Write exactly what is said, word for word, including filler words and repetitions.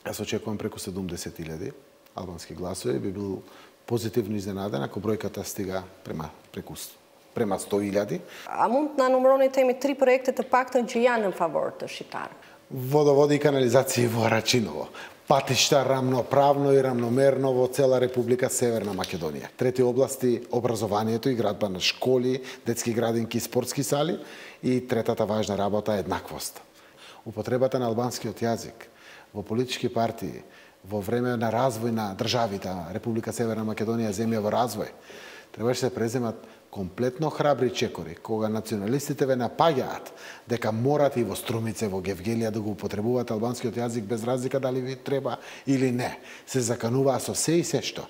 Јас очекувам преку седумдесет илјади албански гласови, би бил позитивно изненаден ако бројката стига према преку према сто илјади. A mund na numëroni temi tri projekte të paktën që janë në favor të shqiptarëve? Водоводи и канализации во Рачиново, патишта рамноправно и рамномерно во цела Република Северна Македонија. Трети области образованието и градба на школи, детски градинки и спортски сали, и третата важна работа е еднаквост. Употребата на албанскиот јазик во политички партии во време на развој на државите, Република Северна Македонија е земја во развој, требаше да се преземат комплетно храбри чекори, кога националистите ве напаѓаат дека морате и во Струмице, во Гевгелија да го употребуваат албанскиот јазик без разлика дали ви треба или не. Се закануваа со се и се што.